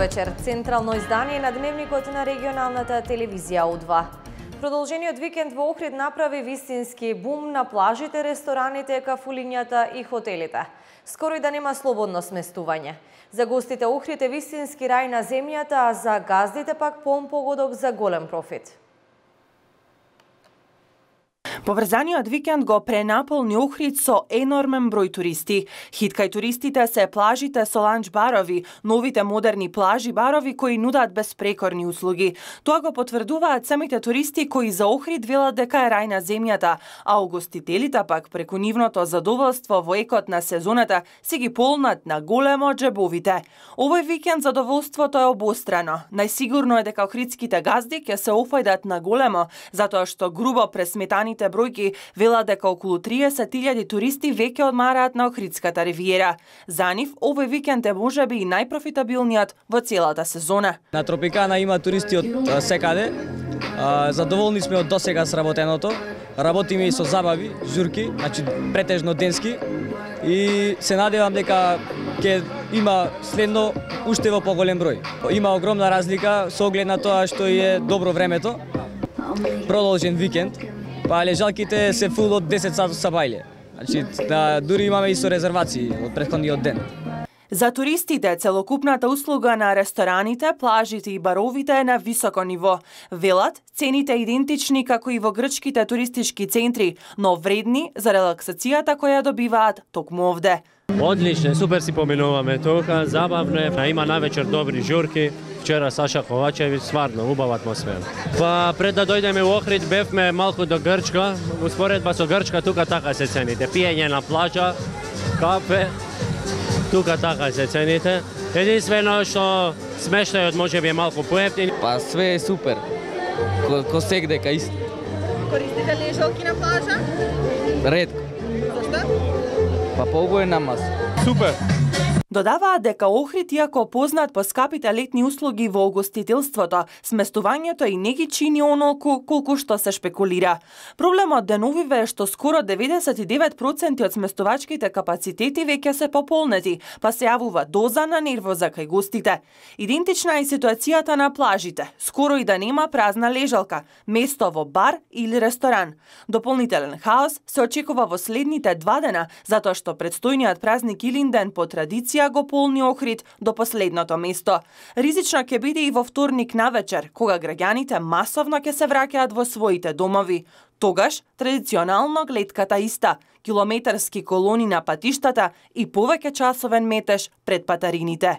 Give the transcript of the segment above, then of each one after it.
вечер. Централно издание на дневникот на регионалната телевизија У2. Продолжениот викенд во Охрид направи вистински бум на плажите, рестораните, кафулињата и хотелите. Скоро и да нема слободно сместување. За гостите Охрид е вистински рај на земјата, а за газдите пак полн погодок за голем профит. Поврзаниот викенд го пренаполни Охрид со енормен број туристи. Хит кај туристите се плажите со ланч барови, новите модерни плажи барови кои нудат безпрекорни услуги. Тоа го потврдуваат самите туристи кои за Охрид велат дека е рај на земјата, а угостителите пак преку нивното задоволство во екот на сезоната се ги полнат на големо џебовите. Овој викенд задоволството е обострано. Најсигурно е дека охридските газди ќе се офајдат на големо, затоа што грубо пресметаните бројки велат дека околу 30.000 туристи веќе одмараат на Охридската ривиера. За нив овој викенд е можеби и најпрофитабилниот во целата сезона. На Тропикана има туристи од секаде. Задоволни сме од досега сработеното. Работиме и со забави, журки, значи претежно денски, и се надевам дека ќе има следно уште во поголем број. Има огромна разлика со оглед на тоа што е добро времето. Продолжен викенд. Па лежалките се фул од 10 сати сабајле. Значи, дури имаме и со резервации од претходниот ден. За туристите, целокупната услуга на рестораните, плажите и баровите е на високо ниво. Велат, цените идентични како и во грчките туристички центри, но вредни за релаксацијата која добиваат токму овде. Одлично, супер си поминуваме тука, забавно е, има навечер добри журки. Вчера Саша Ковачевиќ, стварно убава атмосфера. Па пред да дојдеме во Охрид бевме малку до Грчка, успоредба со Грчка тука така се цените. Пиење на плажа, кафе, тука така се цените. Единствено што смештајот можеби е малку поевтин. Па све е супер. Ко сегде кај исто. Користите лежалки на плажа? Ретко. Зашто? Па поубаво маса. Супер. Додаваат дека Охрид, иако познат по скапите летни услуги во угостителството, сместувањето и не ги чини онолку колку што се шпекулира. Проблемот деновиве е што скоро 99% од сместувачките капацитети веќе се пополнети, па се јавува доза на нервоза кај гостите. Идентична е ситуацијата на плажите. Скоро и да нема празна лежалка, место во бар или ресторан. Дополнителен хаос се очекува во следните 2 дена, затоа што предстојниот празник Илинден по традиција го полни Охрид до последното место. Ризично ќе биде и во вторник навечер, кога граѓаните масовно ќе се враќаат во своите домови. Тогаш, традиционално гледката иста, километарски колони на патиштата и повеќе часовен метеж пред патарините.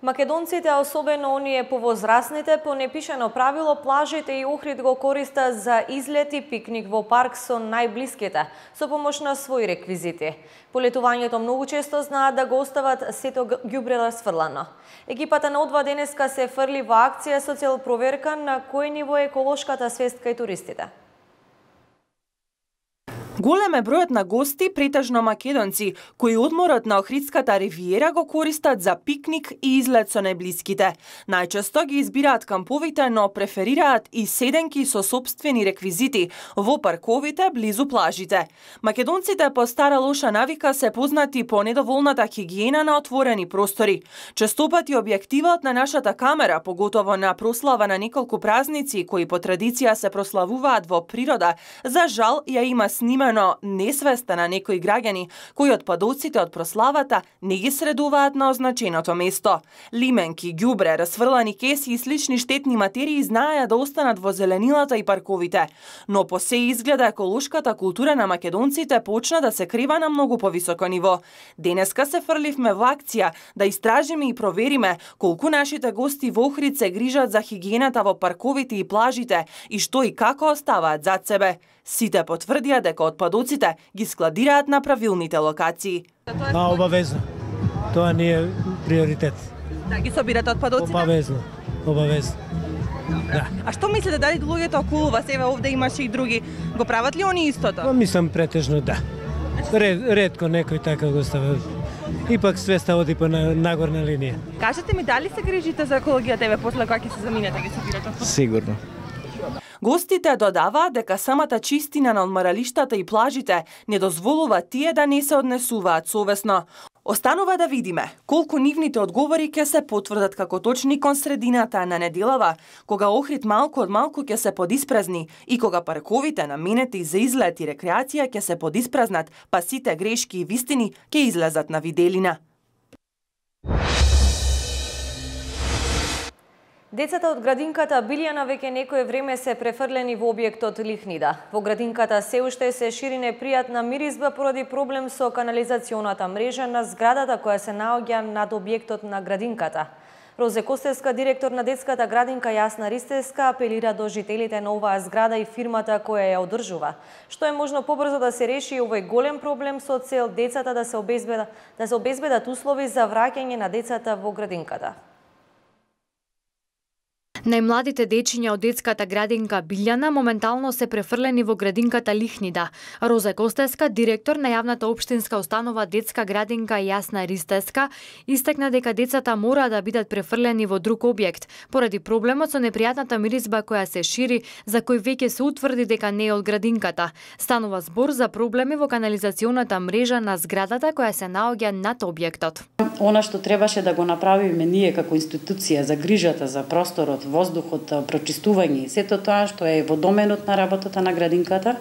Македонците, особено оние повозрасните, по непишано правило плажите и Охрид го користат за излет и пикник во парк со најблиските, со помош на своји реквизити. Полетувањето многу често знаат да го остават сето ѓубре расфрлано. Екипата на У2 денеска се фрли во акција со цел проверка на кој ниво е еколошката свест кај туристите. Голем е бројот на гости, претежно македонци, кои одморот на Охридската ривиера го користат за пикник и излет со најблиските. Најчесто ги избираат камповите, но преферираат и седенки со сопствени реквизити во парковите близу плажите. Македонците по стара лоша навика се познати по недоволната хигиена на отворени простори. Честопати објективот на нашата камера, поготово на прослава на неколку празници кои по традиција се прославуваат во природа, за жал ја има снимено несвеста на некои граѓани кои отпадоците од прославата не ги средуваат на означеното место. Лименки, ѓубре, расфрлани кеси и слични штетни материи знаеа да останат во зеленилата и парковите. Но по се изгледа еколошката култура на македонците почна да се крива на многу повисоко ниво. Денеска се фрливме во акција да истражиме и провериме колку нашите гости во Охрид се грижат за хигиената во парковите и плажите и што и како оставаат зад себе. Сите потврдија дека отпадоците ги складираат на правилните локации. Обавезно. Тоа не е приоритет. Да ги собирате отпадоците? Обавезно. Да. А што мислите, дали луѓето околу вас, еве овде имаше и други, го прават ли они истото? Па мислам претежно да. Ретко некој така го става. Ипак свеста оди по нагорна линија. Кажете ми, дали се грижите за екологијата, еве после кога ќе се заминете ги собирате отпадоците? Сигурно. Гостите додаваат дека самата чистина на одморалиштата и плажите не дозволува тие да не се однесуваат совесно. Останува да видиме колку нивните одговори ќе се потврдат како точни кон средината на неделава, кога Охрид малку од малку ќе се подиспразни и кога парковите наменети за излет и рекреација ќе се подиспразнат, па сите грешки и вистини ќе излезат на виделина. Децата од градинката Билјана веќе некое време се префрлени во објектот Лихнида. Во градинката се уште се шири непријатна миризба поради проблем со канализационата мрежа на зградата која се наоѓа над објектот на градинката. Розе Костевска, директор на детската градинка Јасна Ристевска, апелира до жителите на оваа зграда и фирмата која ја одржува, што е можно побрзо да се реши овој голем проблем со цел децата да се обезбедат услови за враќање на децата во градинката. Најмладите дечиња од детската градинка Билјана моментално се префрлени во градинката Лихнида. Роза Костевска, директор на јавната општинска установа детска градинка Јасна Ристевска, истакна дека децата мора да бидат префрлени во друг објект поради проблемот со непријатната миризба која се шири, за кој веќе се утврди дека не е од градинката. Станува збор за проблеми во канализационата мрежа на зградата која се наоѓа над објектот. Она што требаше да го направиме ние како институција за грижата за просторот, воздухот, прочистување и сето тоа што е во доменот на работата на градинката,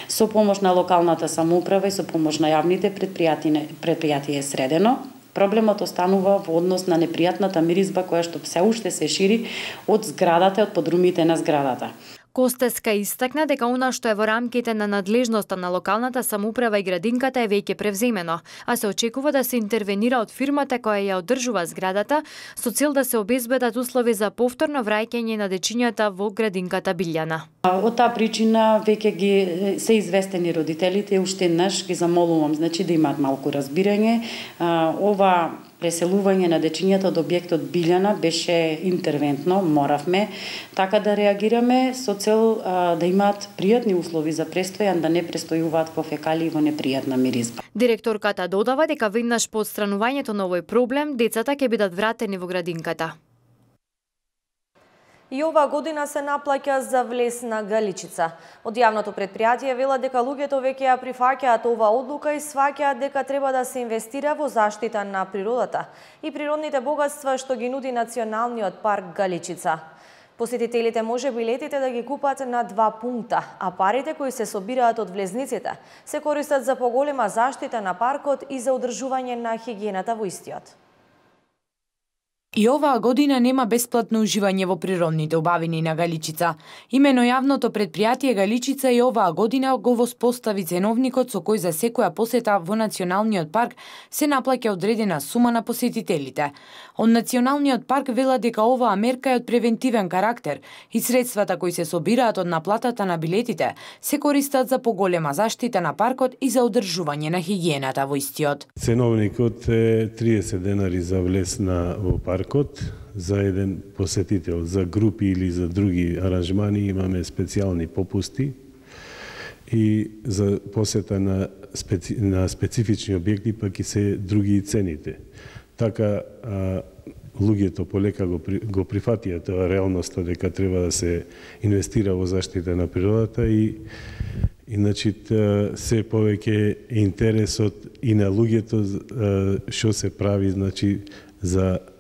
со помош на локалната самоуправа и со помош на јавните предпријатија е средено. Проблемот останува во однос на непријатната миризба која што се уште се шири од зградата, од подрумите на зградата. Костевска истакна дека она што е во рамките на надлежноста на локалната самоуправа и градинката е веќе превземено, а се очекува да се интервенира од фирмата која ја одржува зградата со цел да се обезбедат услови за повторно враќање на дечињата во градинката Билјана. Од таа причина веќе ги се известени родителите, уште еднаш ги замолувам, значи да имаат малку разбирање. Ова преселување на дечињата од објектот Билјана беше интервентно, моравме така да реагираме со цел да имаат пријатни услови за престојан, да не престојуваат во фекалии во непријатна миризба. Директорката додава дека веднаш по отстранувањето на овој проблем, децата ќе бидат вратени во градинката. И оваа година се наплаќа за влез на Галичица. Од јавното предпријатие велат дека луѓето веќе ја прифаќаат оваа одлука и сваќаат дека треба да се инвестира во заштита на природата и природните богатства што ги нуди Националниот парк Галичица. Посетителите може билетите да ги купат на 2 пункта, а парите кои се собираат од влезниците се користат за поголема заштита на паркот и за одржување на хигиената во истиот. И оваа година нема бесплатно уживање во природните убавини на Галичица. Имено јавното предпријатие Галичица и оваа година го воспостави ценовникот со кој за секоја посета во Националниот парк се наплаќа одредена сума на посетителите. Од Националниот парк велат дека оваа мерка е од превентивен карактер и средствата кои се собираат од наплатата на билетите се користат за поголема заштита на паркот и за одржување на хигиената во истиот. Ценовникот е 30 денари за влез во парк. За еден посетител, за групи или за други аранжмани имаме специјални попусти и за посета на специфични објекти пак и се други цените. Така луѓето полека го прифатија тоа реалноста дека треба да се инвестира во заштита на природата и иначе се повеќе интересот и на луѓето што се прави значи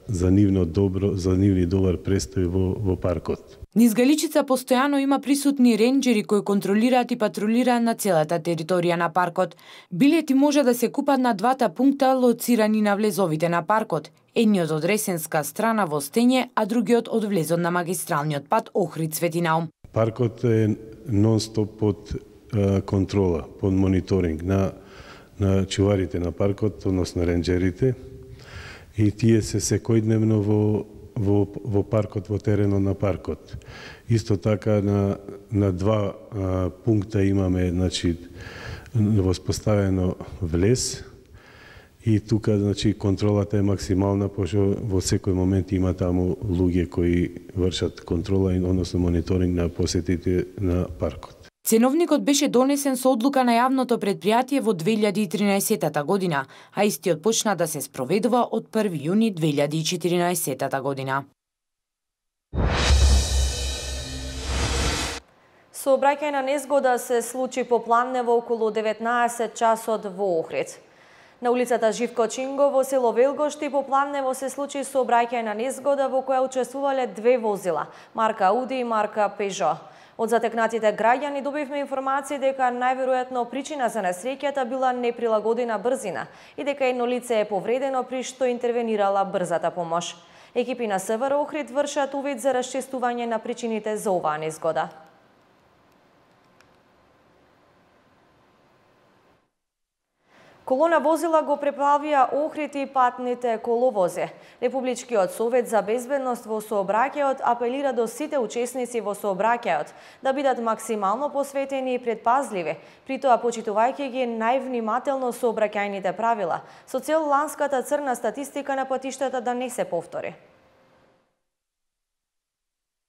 за нивно добар престој во паркот. Низ Галичица постојано има присутни ренџери кои контролираат и патрулираат на целата територија на паркот. Билети може да се купат на 2 пункта лоцирани на влезовите на паркот. Едниот од Ресенска страна во Стење, а другиот од влезот на магистралниот пат Охрид-Светинаум. Паркот е нон-стоп под контрола, под мониторинг на чуварите на паркот, односно ренџерите. И тие се секојдневно во паркот, во теренот на паркот. Исто така на 2 пункта имаме значи воспоставено влез и тука значи контролата е максимална, пошто во секој момент има таму луѓе кои вршат контрола и односно мониторинг на посетите на паркот. Ценовникот беше донесен со одлука на јавното предпријатие во 2013 година, а истиот почна да се спроведува од 1 јуни 2014 година. Сообраќајна незгода се случи попладнево околу 19 часот во Охрид. На улицата Живко Чинго во село Велгошти попладнево се случи сообраќајна незгода во која учествувале две возила, марка Ауди и марка Пежо. Од затекнатите граѓани добивме информации дека најверојатно причина за несреќата била неприлагодена брзина и дека едно лице е повредено при што интервенирала брзата помош. Екипи на СВР Охрид вршат увид за расчистување на причините за оваа незгода. Колона возила го преплавија Охрид и патните коловози. Републичкиот совет за безбедност во сообраќајот апелира до сите учесници во сообраќајот да бидат максимално посветени и предпазливи, притоа почитувајќи ги највнимателно сообраќајните правила, со цел ланската црна статистика на патиштата да не се повтори.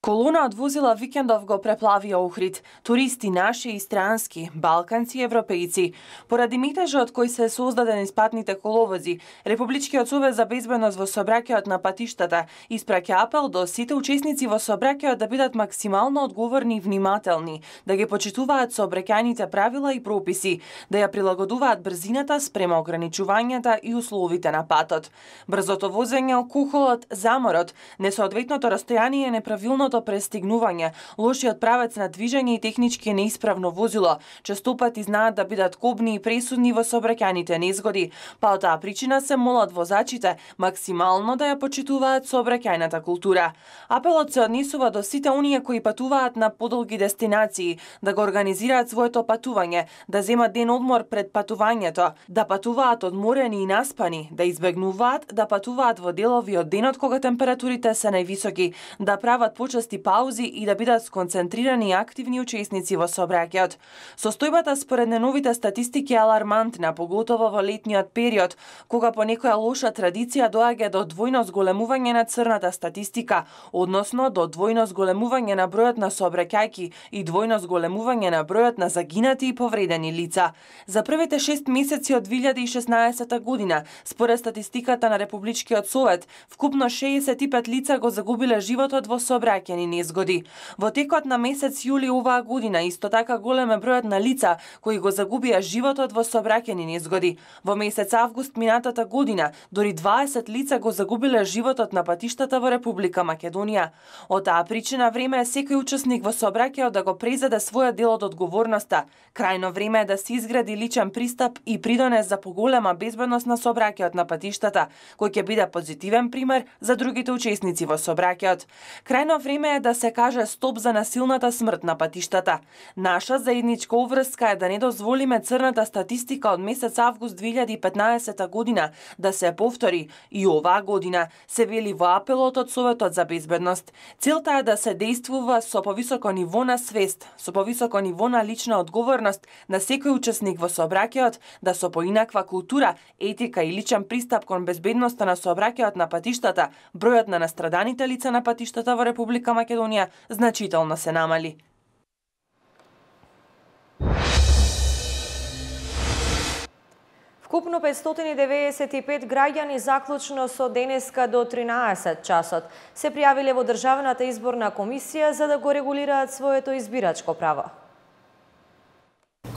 Колона од возила викендов го преплавија Охрид. Туристи наши и странски, балканци и европејци. Поради метежот кој се создаден из патните коловози, Републичкиот совет за безбедност во сообраќајот на патиштата испраќа апел до сите учесници во сообраќајот да бидат максимално одговорни и внимателни, да ги почитуваат сообраќајните правила и прописи, да ја прилагодуваат брзината спрема ограничувањата и условите на патот. Брзото возење, алкохолот, заморот, несоодветното растојание, неправилното престигнување, лошиот правец на движење и технички неисправно возило, често пати знаат да бидат кобни и пресудни во сообраќајните незгоди, па од таа причина се молат возачите максимално да ја почитуваат сообраќајната култура. Апелот се однесува до сите оние кои патуваат на подолги дестинации, да го организираат своето патување, да земат ден одмор пред патувањето, да патуваат одморени и наспани, да избегнуваат да патуваат во делови од денот кога температурите се највисоки, да прават почести паузи и да бидат сконцентрирани и активни учесници во сообраќајот. Состојбата според неновите статистики е алармантна, поготово во летниот период, кога по некоја лоша традиција доаѓа до двојно зголемување на црната статистика, односно до двојно зголемување на бројот на сообраќајки и двојно зголемување на бројот на загинати и повредени лица. За првите 6 месеци од 2016 година, според статистиката на Републичкиот совет, вкупно 65 лица го загубиле животот во сообраќајни незгоди. Во текот на месец јули оваа година исто така голем е бројот на лица кои го загубија животот во сообраќајни незгоди. Во месец август минатата година дори 20 лица го загубиле животот на патиштата во Република Македонија. Од таа причина време е секој учесник во сообраќајот да го презеде својот дел од одговорноста. Крајно време е да се изгради личен пристап и придонес за поголема безбедност на сообраќајот на патиштата, кој ќе биде позитивен пример за другите учесници во сообраќајот. Крајно време е да се каже стоп за насилната смрт на патиштата. Наша заедничка обврска е да не дозволиме црната статистика од месец август 2015 година да се повтори и оваа година, се вели во апелот од Советот за безбедност. Целта е да се действува со повисоко ниво на свест, со повисоко ниво на лична одговорност на секој учесник во сообраќајот, да со поинаква култура, етика и личен пристап кон безбедноста на сообраќајот на патиштата, бројот на настраданите лица на патиштата во Република Македонија значително се намали. Вкупно 595 граѓани заклучно со денеска до 13 часот се пријавиле во Државната изборна комисија за да го регулираат своето избирачко право.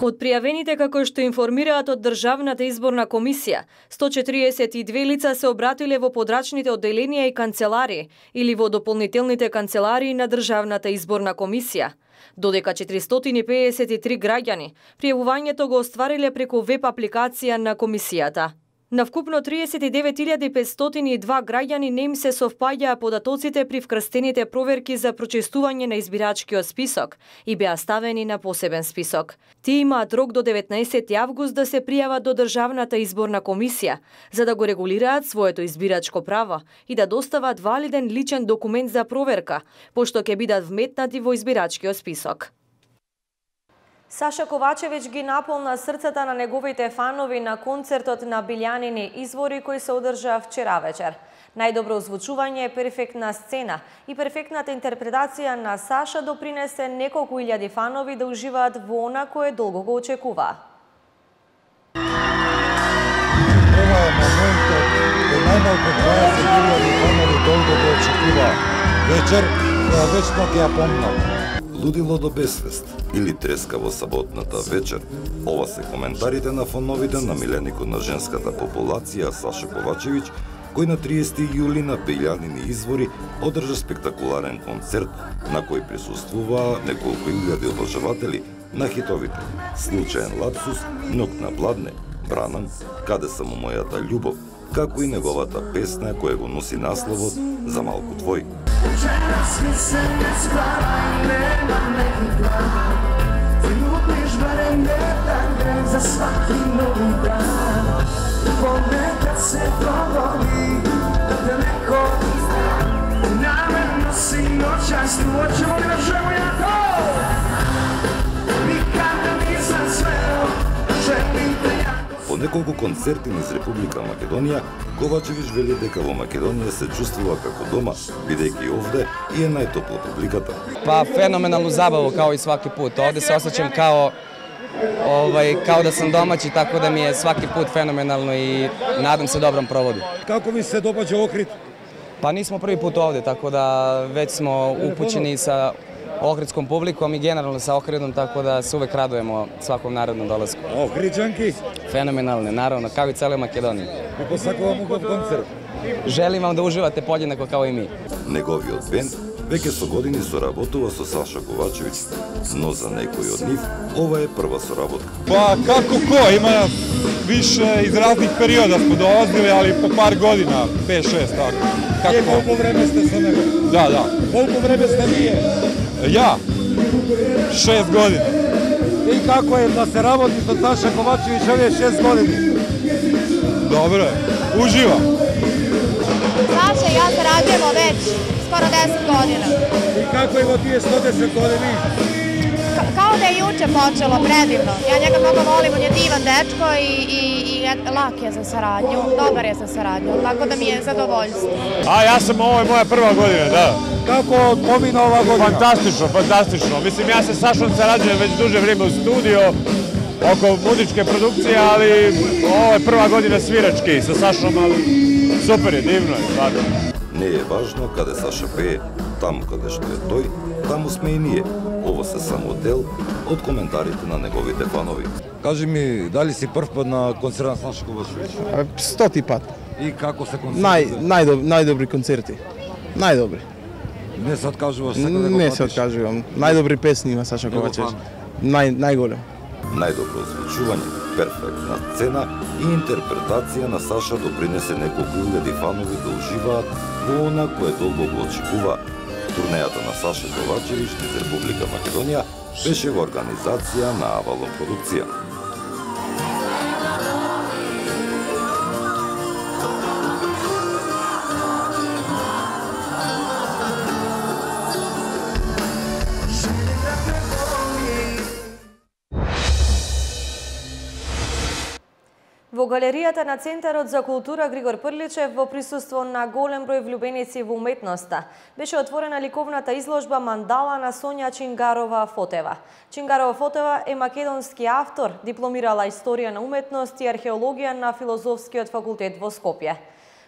Од пријавените, како што информираат од Државната изборна комисија, 142 лица се обратиле во подрачните одделенија и канцеларии или во дополнителните канцеларии на Државната изборна комисија, додека 453 граѓани пријавувањето го оствариле преку веб апликација на комисијата. На вкупно 39.502 граѓани не им се совпаѓаа податоците при вкрстените проверки за прочистување на избирачкиот список и беа ставени на посебен список. Тие имаат рок до 19 август да се пријават до Државната изборна комисија за да го регулираат своето избирачко право и да достават валиден личен документ за проверка, пошто ќе бидат вметнати во избирачкиот список. Саша Ковачевиќ ги наполна срцата на неговите фанови на концертот на Билјанини извори кој се одржа вчера вечер. Најдобро озвучување, перфектна сцена и перфектната интерпретација на Саша допринесе неколку илјади фанови да уживаат во она кое долго го очекуваа. Ова е моментот кој најмалку 20.000 фанови долго го очекуваа. Вечер која вечно ќе ја помнам. лудило до безсвест или треска во саботната вечер. Ова се коментарите на фановите на миленикот на женската популација Саша Ковачевиќ, кој на 30 јули на Бељанини извори одржа спектакуларен концерт на кој присуствуваа неколку илјади обожаватели на хитовите Случаен лапсус, Ног на пладне, Бранам, Каде сам мојата љубов, како и неговата песна која го носи насловот За малку твој. Ponekad se dogodi da te neko namerno si noćas tuoče, molim vas žemo jako. Nikada nisam sveo, želim te jako. По неколку концерти низ Република Македонија, Ковачевиќ вели дека во Македонија се чувствува како дома, бидејќи овде и е најтопла публиката. Па феноменалну забаву као и сваки пут. Овде се осеќам као да сам домаќи, така да ми е сваки пут феноменално и надам се добром проводу. Како ви се допаѓа Охрид? Па нисмо први пут овде, така да веќе смо упуćeni sa Охридском публиком и генерално sa Охридом, така да се увек радуваме сваком наредном долазку. Охриđanки? Феноменални, наравно, као и целе Македонија. И посакувам убав концерт. Желим вам да уживате подjednako као и ми. Неговиот бенд веќе со години соработува со Саша Ковачевиќ, но за некој од нив ова е прва соработка. Па како кој, има више из разних периода сме долазили, али по пар година, 5-6 така. Како? И колку време сте со него? Да. Колку време сте вие? Ја? 6 години. И како е да се работи со Саша Ковачевиќ овие 6 години? Добро е, уживам. Саша и јас сараѓujemo веќе скоро 10 година. И како е во тие 110 години? Kao da je juče počelo, predivno. Ja njega mnogo volim, on je divan dečko i lak je za saradnju, dobar je za saradnju, tako da mi je zadovoljstvo. A ja sam, ovo je moja prva godina, da. Kako pomina ova godina? Fantastično. Mislim, ja se Sašom sarađujem već duže vrijeme u studiju, oko muzičke produkcije, ali ovo je prva godina svirački sa Sašom, ali super je, divno je, stvarno. Не е важно каде Саша пее, таму каде што е тој, таму сме и ние. Ова се само дел од коментарите на неговите фанови. Кажи ми, дали си прв пат на концерт на Саша Ковачевиќ? 100 пат. И како се концерти? Најдобри концерти. Најдобри. Не се откажуваш сега да го Не се откажувам. Најдобри песни има Саша Ковачевиќ. Најголем. Најдобро озвучување, перфектна сцена и интерпретација на Саша допринесе неколку илјади фанови да уживаат во она кое долго го очекува. Турнејата на Саша Ковачевиќ низ Република Македонија беше во организација на Авалон продукција. Во галеријата на Центарот за култура Григор Прличев во присуство на голем број влюбеници во уметноста беше отворена ликовната изложба Мандала на Сонја Чингарова-Фотева. Чингарова-Фотева е македонски автор, дипломирала историја на уметност и археологија на Филозофскиот факултет во Скопје.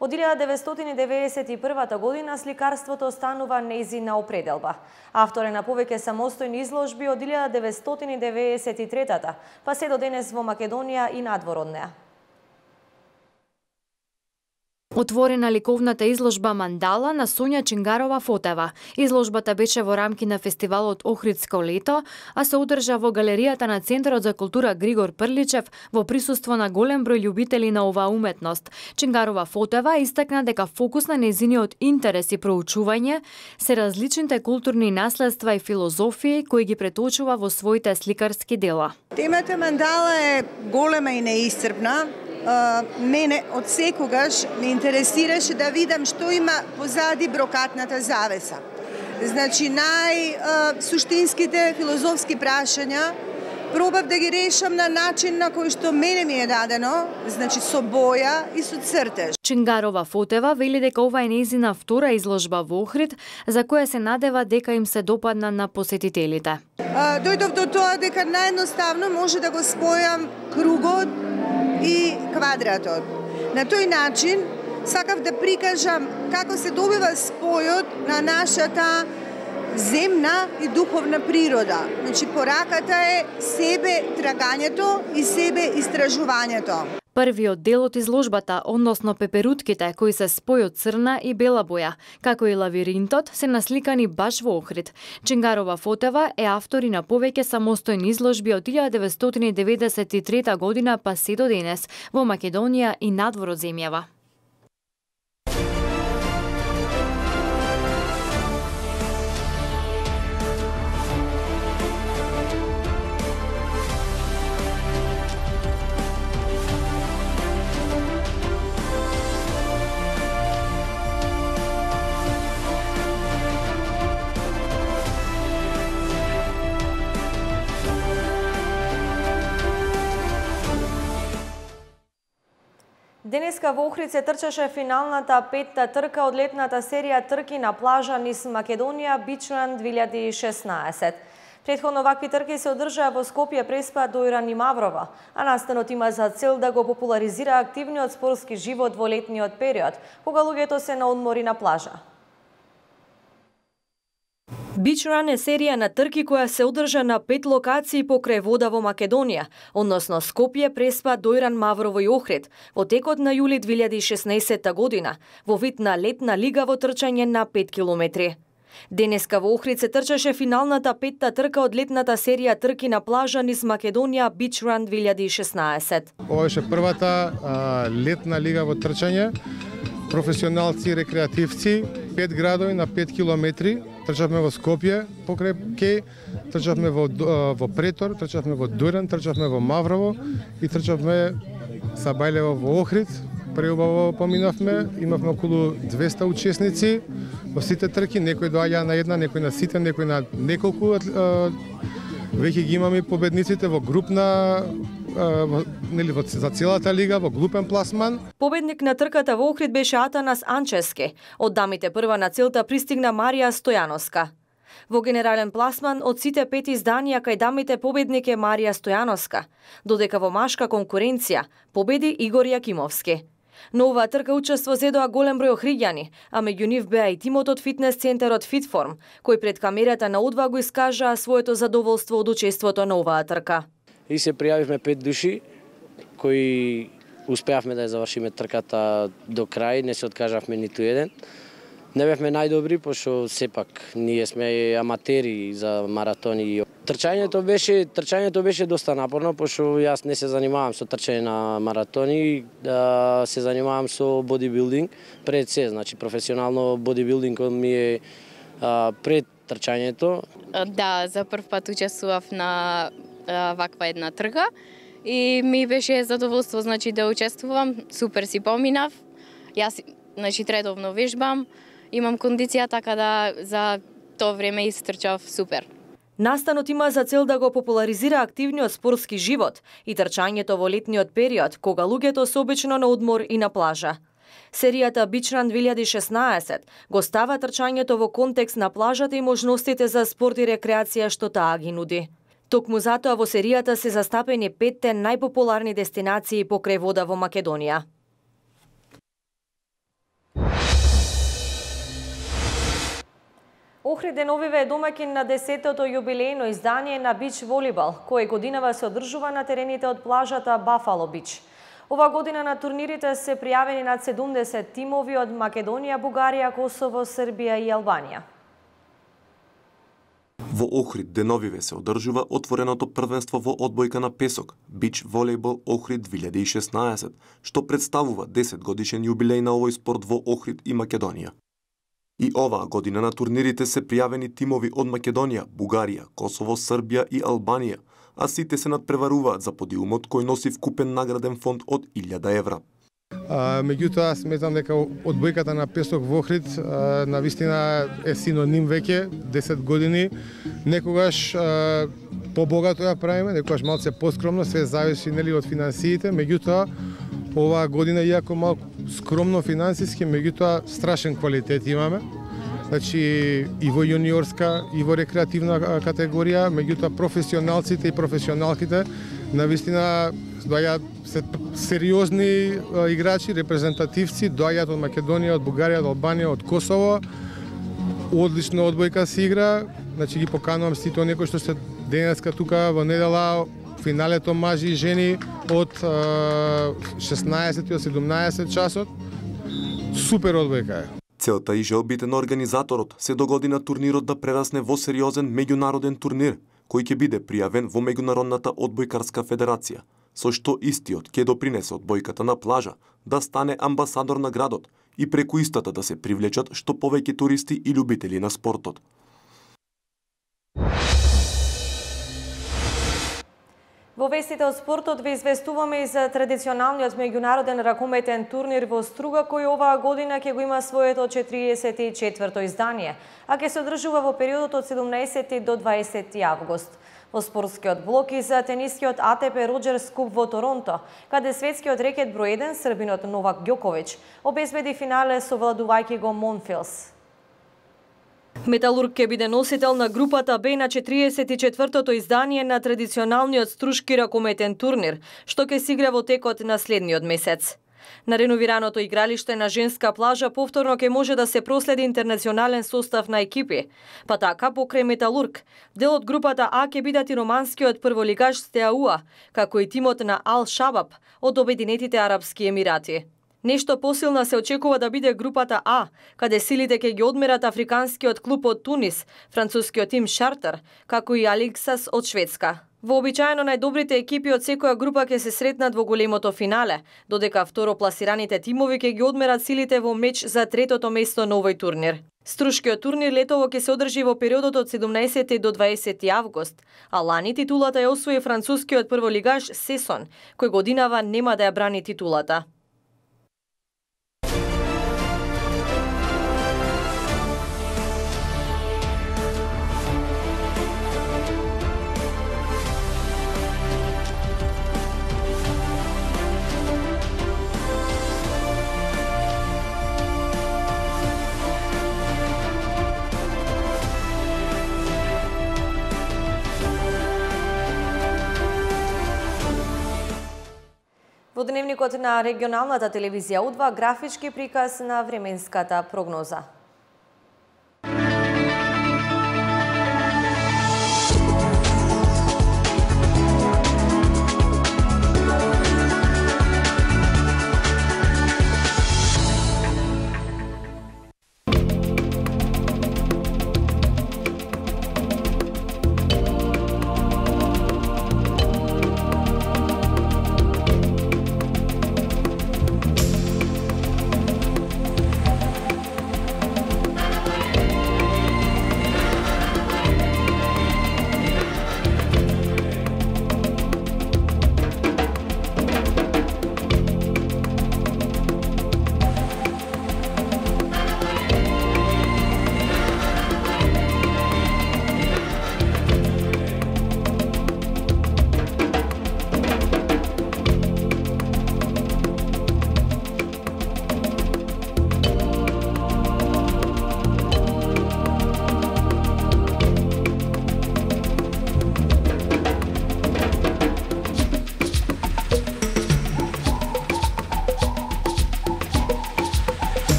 Од 1991 година сликарството останува нејзина определба. Автор е на повеќе самостојни изложби од 1993 па се до денес во Македонија и надвор од неа. Отворена ликовната изложба Мандала на Сонја Чингарова-Фотева. Изложбата беше во рамки на фестивалот Охридско лето, а се одржа во галеријата на Центарот за култура Григор Прличев во присуство на голем број љубители на оваа уметност. Чингарова-Фотева истакна дека фокус на нејзиниот интерес и проучување се различните културни наследства и филозофии кои ги преточува во своите сликарски дела. Темата Мандала е голема и неисцрпна. Мене од секогаш ме интересираше да видам што има позади брокатната завеса. Значи, најсуштинските филозофски прашања пробав да ги решам на начин на кој што мене ми е дадено, значи со боја и со цртеж. Чингарова-Фотева вели дека ова е нејзина втора изложба во Охрид, за која се надева дека им се допадна на посетителите. Дојдов до тоа дека наједноставно може да го спојам кругот и квадратот. На тој начин сакав да прикажам како се добива спојот на нашата земна и духовна природа. Значи, пораката е себе трагањето и себе истражувањето. Првиот дел од изложбата, односно пеперутките кои се спој од црна и бела боја, како и лавиринтот, се насликани баш во Охрид. Ченгарова Фотева е автор и на повеќе самостојни изложби од 1993 година па се до денес во Македонија и надвор од земјава. Денеска во Охрид се трчаше финалната петта трка од летната серија трки на плажа низ Македонија Beach Run 2016. Претходно вакви трки се одржаа во Скопје, Преспа, Дојран и Маврово, а настанот има за цел да го популаризира активниот спортски живот во летниот период, кога луѓето се на одмори на плажа. Beach Run е серија на трки која се одржа на 5 локации покрај вода во Македонија, односно Скопје, Преспа, Дојран, Маврово и Охрид, во текот на јули 2016 година, во вид на летна лига во трчање на 5 километри. Денеска во Охрид се трчаше финалната петта трка од летната серија трки на плажа низ Македонија Beach Run 2016. Ова беше првата летна лига во трчање. Професионалци и рекреативци, 5 градови на 5 километри. Трчавме во Скопје, покрај Кеј, трчавме во Претор, трчавме во Дојран, трчавме во Маврово и трчавме са Бајлево во Охрид. Преубаво поминавме, имавме околу 200 учесници во сите трки, некои доаѓаа на една, некои на сите, некои на неколку. Веќе ги имаме победниците во групна за целата лига во глупен пласман. Победник на трката во Охрид беше Атанас Анчевски. Од дамите прва на целта пристигна Марија Стојановска. Во генерален пласман од сите 5 изданија кај дамите победник е Марија Стојановска, додека во машка конкуренција победи Игор Јакимовски. На оваа трка учество зедоа голем број охриѓани, а меѓу нив беа и тимот од фитнес центарот Фитформ, кој пред камерата на Удва го искажаа своето задоволство од учеството на оваа трка. И се пријавивме 5 души кои успеавме да ја завршиме трката до крај, не се откажавме ниту еден. Не бевме најдобри, пошто сепак ние сме аматери за маратони. Трчањето беше доста напорно, пошто јас не се занимавам со трчање на маратони, се занимавам со бодибилдинг пред се, значи професионално бодибилдингот ми е пред трчањето. Да, за прв пат учествував на ваква една трка и ми беше задоволство, значи да учествувам, супер си поминав. Јас значи редовно вежбам, имам кондиција, така да за тоа време истрчав супер. Настанот има за цел да го популаризира активниот спортски живот и трчањето во летниот период, кога луѓето се обично на одмор и на плажа. Серијата Beach Run 2016 го става трчањето во контекст на плажата и можностите за спорт и рекреација што таа ги нуди. Токму затоа во серијата се застапени 5 најпопуларни дестинации покрај вода во Македонија. Охрид деновиве е домаќин на 10-тото јубилејно издание на бич волейбол, кој годинава се одржува на терените од плажата Бафало Бич. Ова година на турнирите се пријавени над 70 тимови од Македонија, Бугарија, Косово, Србија и Албанија. Во Охрид деновиве се одржува отвореното првенство во одбојка на песок Бич волейбол Охрид 2016, што представува 10 годишен јубилеј на овој спорт во Охрид и Македонија. И оваа година на турнирите се пријавени тимови од Македонија, Бугарија, Косово, Србија и Албанија, а сите се надпреваруваат за подиумот кој носи вкупен награден фонд од 1000 евра. Меѓутоа, сметам дека одбојката на песок во Охрид навистина е синоним веќе 10 години. Некогаш побогато ја правиме, некогаш малце поскромно, се зависи нели од финансиите, меѓутоа оваа година иако малку скромно финансиски, меѓутоа страшен квалитет имаме. Значи и во јуниорска, и во рекреативна категорија, меѓутоа професионалците и професионалките навистина доаѓаат сериозни играчи, репрезентативци, доаѓаат од Македонија, од Бугарија, од Албанија, од Косово. Одлично одбојка се игра, значи ги поканувам сите оние кои што се денеска тука во недела финалето мажи и жени од 16 до 17 часот. Супер одбојка е. Целта и желбите на организаторот се до година турнирот да прерасне во сериозен меѓународен турнир, кој ќе биде пријавен во Меѓународната одбојкарска федерација, со што истиот ќе допринесе одбојката на плажа да стане амбасадор на градот и преку истата да се привлечат што повеќе туристи и љубители на спортот. Во вестите од спортот ви известуваме и за традиционалниот меѓународен ракометен турнир во Струга, кој оваа година ќе го има своето 44-то издание, а ќе се одржува во периодот од 17 до 20 август. Во спортскиот блок и за тенискиот АТП Роџерс Куп во Торонто, каде светскиот рекет број 1 србинот Новак Ѓоковиќ обезбеди финале совладувајќи го Монфилс. Металург ќе биде носител на групата Б на 44-тото издание на традиционалниот струшки ракометен турнир, што ќе се игра во текот на следниот месец. На реновираното игралиште на женска плажа повторно ќе може да се проследи интернационален состав на екипи. Па така, покрај Металург, дел од групата А ќе бидат и романскиот прволигаш Стеауа, како и тимот на Ал Шабаб од Обединетите Арапски Емирати. Нешто посилна се очекува да биде групата А, каде силите ќе ги одмерат африканскиот клуб од Тунис, францускиот тим Шартер, како и Аликсас од Шведска. Вообичаено најдобрите екипи од секоја група ќе се сретнат во големото финале, додека второпласираните тимови ќе ги одмерат силите во меч за третото место на овој турнир. Струшкиот турнир летово ќе се одржи во периодот од 17 до 20 август, а лани титулата ја освои францускиот прволигаш Сесон, кој годинава нема да ја брани титулата. Во дневникот на регионалната телевизија У2 графички приказ на временската прогноза.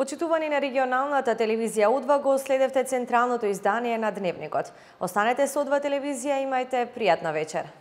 Почитувани на регионалната телевизија У2 го следевте централното издание на Дневникот. Останете со У2 телевизија, имајте пријатна вечер.